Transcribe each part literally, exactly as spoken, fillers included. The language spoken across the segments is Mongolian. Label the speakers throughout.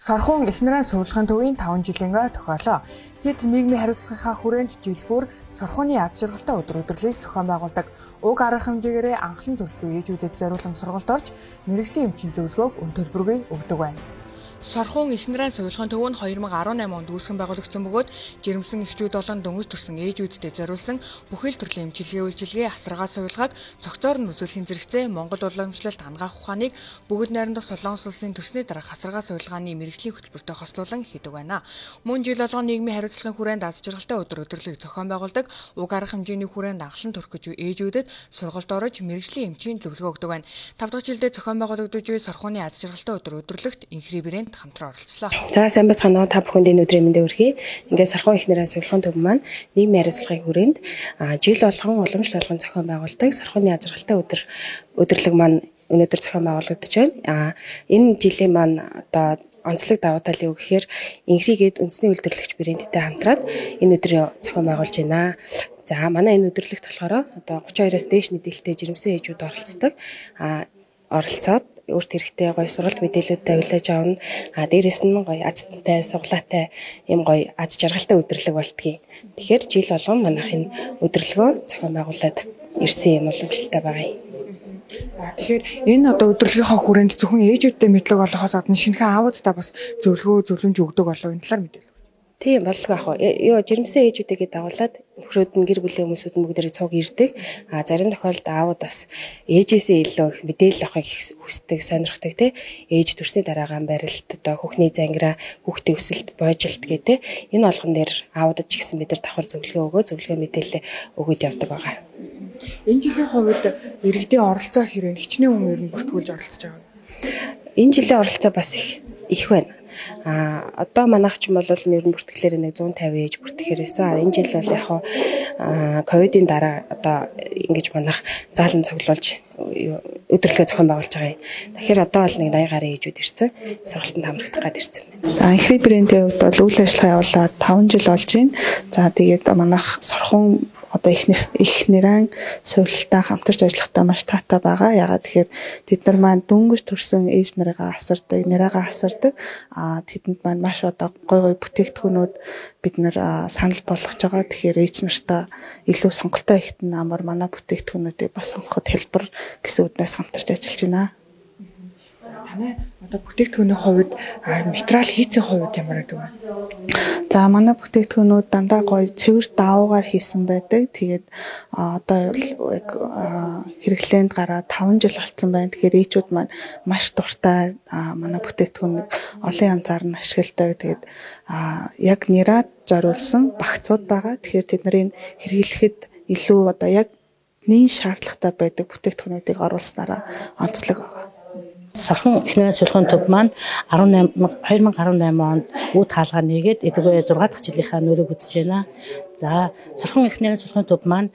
Speaker 1: Сорхон эхнэрийн сурвалжын төвийн таван жилийн тохиолоо. Тэд нийгмийн хариуцлагынхаа хүрээнд жилбүр сорхооны аз жаргалтай өдөр өдрлийг зохион байгуулдаг. Уг арга хэмжээгээр анхлан төрөлгүй ээжүүдэд зориулсан сургалт орж мэргэжлийн эмчийн зөвлөгөөг өн төлбөргүй өгдөг байна. Сорхон эхнэрийн сурвалжын төв нь хоёр мың арван найман онд үүсгэн байгуулагдсан бөгөөд жирэмсэн эхчүүд болон дөнгөж төрсэн ээжүүдэд зориулсан бүхэл төрлийн эмчилгээ үйлчилгээ асаргаа сувилгааг цогцоор нь үзүүлэхийн зэрэгцээ Монгол уламжлалт ангаах ухааныг бүгд найрамдах Солонгос улсын төрсний дараах асаргаа сувилгааны мэргэжлийн хөтөлбөртэй хослуулан хийдэг байна. Мөн жил болгон нийгмийн хариуцлагын хүрээнд аз жаргалтай өдөр өдрлийг зохион байгуулдаг. Уг арга хэмжээний хүрээнд анхлан төрөх гэж ээжүүдэд сургалт орж мэргэжлийн эмчийн зөвлөгөө өгдөг байна. тав дахь жилдээ зохион байгуулагдаж буй Сорхооны аз жаргалтай өдөр өдрлөгт инхри брэнд хамтран оролцлоо.
Speaker 2: За сайн бацгаана уу та бүхэнд энэ өдрийн мэндийг хүргэе. Ингээд Сорхон эхнэрийн сурвалжын төв маань нийгмийн хариуцлагын хүрээнд жил болгон уламжлалт болгон зохион байгуулдаг Сорхооны аз жаргалтай өдөр өдрлөг маань өнөөдөр зохион байгуулагдаж байна. Энэ жилийн маань одоо онцлог давуу тал юу гэхээр инхригээд үндэсний үйлдвэрлэгч брэндтэй хамтраад энэ өдрийг зохион байгуулж байна. За манай энэ өдөрлөгт болохоор одоо гурван хоёроос дээш нийтэлтэй жирэмсэн ээжүүд оролцдог. А оролцоод өөрт хэрэгтэй гоё сургалт мэдээлэлүүдтэй хүлээж авна. А дээрэс нь гоё азтай, суглаатай юм гоё аз жаргалтай өдөрлөг болтгий. Тэгэхээр жил болгон манайх энэ өдөрлөгөө зохион байгуулад ирсэн юм уламжлалтай байгаа юм.
Speaker 1: Тэгэхээр энэ одоо өдөрлөгийнхаа хүрээнд зөвхөн ээжүүдтэй мэдлэг олохоос гадна шинэхэн аавуудтай бас зөвлөгөө зөвлөмж өгдөг болов энэ талаар мэдээлэл.
Speaker 2: Тийм боллого ах уу. Ёо жирэмсэн ээжүүдийгээ дагуулад нөхрөөд нь гэр бүлийн хүмүүсүүд нь бүгдээрээ цуг ирдэг. А зарим тохиолдолд аауд бас ээжээсээ илүү их мэдээлэл авахыг хүсдэг, сонирхдаг те. Ээж төрсний дараагаан барилт, одоо хүүхний зангираа, хүүхдийн өсөлт, боожилт гэдэг. Энэ болгон дээр аавуудад ч гэсэн бид нар давхар зөвлөгөө өгөө, зөвлөгөө мэдээлэл өгöd явдаг байгаа.
Speaker 1: Энэ жилийн хувьд иргэдийн оролцоо хэрэг хичнээн хүн ер нь бүртгүүлж оролцож байгаа.
Speaker 2: Энэ жилийн оролцоо бас их их байна. А одоо манайх ч юм бол ер нь бүртгэлээр нэг зуун тавин ээж бүртгэхээр байсан. Энэ жил бол яг хаа ковидын дараа одоо ингэж манайх заалан цуглуулж өдөрлөгөө зохион байгуулж байгаа юм. Тэгэхээр одоо бол нэг даяар гаруй ээжүүд ирсэн. Сургалтанд хамрагдах гад ирсэн байна.
Speaker 3: За инхри брэндийн хувьд бол үйл ажиллагаа явуулаад таван жил болж байна. За тэгээд манайх Сорхон одоо их их нэрэн сурвалжтай хамтарч ажиллахтаа маш таатай байгаа. Ягаад тэгэхээр тэд нар маань дөнгөж төрсэн ээж нарыгаа асардаг, нэрээгээ асардаг. А тэдэнд маань маш одоо гой гой бүтээгдэхүүнүүд бид нар санал болгож байгаа. Тэгэхээр ээж нартаа илүү сонголттой ихтэн амар манай бүтээгдэхүүнүүдийг бас сонгоход хэлбэр гэсэн үднээс хамтарч ажиллаж байна.
Speaker 1: Танай одоо бүтээгдэхүүний хувьд материал хийцийн хувьд ямар гэдэг вэ?
Speaker 3: За манай бүтээгдэхүүнүүд дандаа гоё цэвэр даавуугаар хийсэн байдаг. Тэгээд одоо яг хэрэглээнд гараад таван жил болсон байна. Тэгэхээр ээжүүд маань маш дуртай манай бүтээгдэхүүнийг олон янзаар нь ашигладаг. Тэгээд яг нэраад зориулсан багцууд байгаа. Тэгэхээр тэд нарыг хэрэглэхэд илүү одоо яг нийт шаардлагатай байдаг бүтээгдэхүүнүүдийг оруулснараа онцлог байгаа.
Speaker 4: Сорхон эхнэрийн сурвалжын төв маань хоёр мың арван найман онд үүд хаалгаа нээгээд эдгээр зургаадах жилийнхаа нөрөөг үзэж байна. За Сорхон эхнэрийн сурвалжын төв маань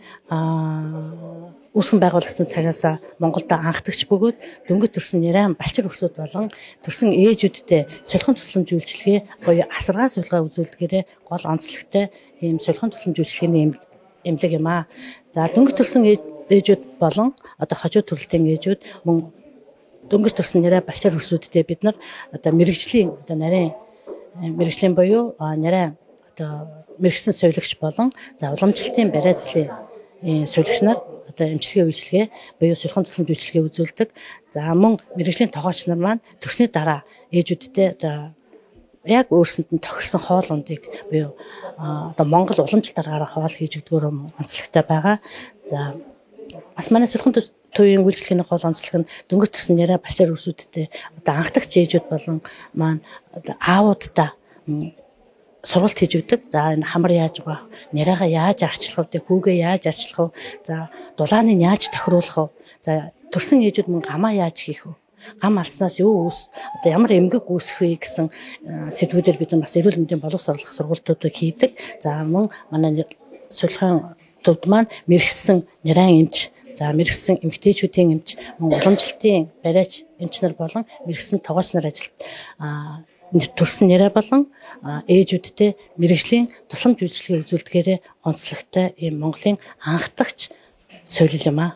Speaker 4: үүсгэн байгуулагдсан цагаас Монголд анхдагч бөгөөд дөнгөж төрсэн нэрэн балчир өрсөд болон төрсэн ээжүүдтэй сулхан тусламж үйлчилгээ буюу асаргаа сувилгаа үзүүлдгээрээ гол онцлогтой ийм сулхан тусламж үйлчилгээний эмнэлэг юм аа. За дөнгөж төрсэн ээжүүд болон одоо хожуу төрөлтийн ээжүүд мөн дөнгөж төрсэн нэрээ балчир өрсүүдтэй бид нар одоо мэрэгжлийн одоо нарийн мэрэгжлийн буюу нарийн одоо мэрэгсэн сувилагч болон за уламжлалтын барайцлын сувилагч нар одоо эмчилгээ үйлчилгээ буюу сулхан тусламж үйлчилгээ үзүүлдэг. За мөн мэрэгжлийн тогооч нар маань төрсний дараа ээжүүдтэй одоо яг өөрсөнд нь тохирсон хоол ундыг буюу одоо Монгол уламжлалтаар гарах хоол хийж өгдөгөр онцлогтой байгаа. За бас манай сулхан төвийн үйлчлэгийн гол онцлог нь дөнгөж төрсэн нэрээ балчир өрсүүдтэй одоо анхдагч ээжүүд болон маань одоо аавуудтай сургалт хийж өгдөг. За энэ хамар яаж байгаа, нэрээгээ яаж арчлах вэ, хүүгээ яаж арчлах вэ, за дулааныг яаж тохируулах вэ, за төрсэн ээжүүд мөн гамаа яаж хийх вэ, гам алснаас юу үүс одоо ямар эмгэг үүсэх вэ гэсэн сэдвүүдээр бид нар бас эрүүл мэндийн боловс орлох сургалтуудыг хийдэг. За мөн манай сулхан төвд маань мэрэгсэн нэрэн эмч, за мэрэгсэн эмэгтэйчүүдийн эмч, мөн уламжлалтын барайч эмч нар болон мэрэгсэн тогооч нар ажилт төрсэн нэрээ болон ээжүүдтэй мэрэгжлийн тусламж үйлчилгээ үзүүлдгээрээ онцлогтой ийм Монголын анхдагч суурил юм аа.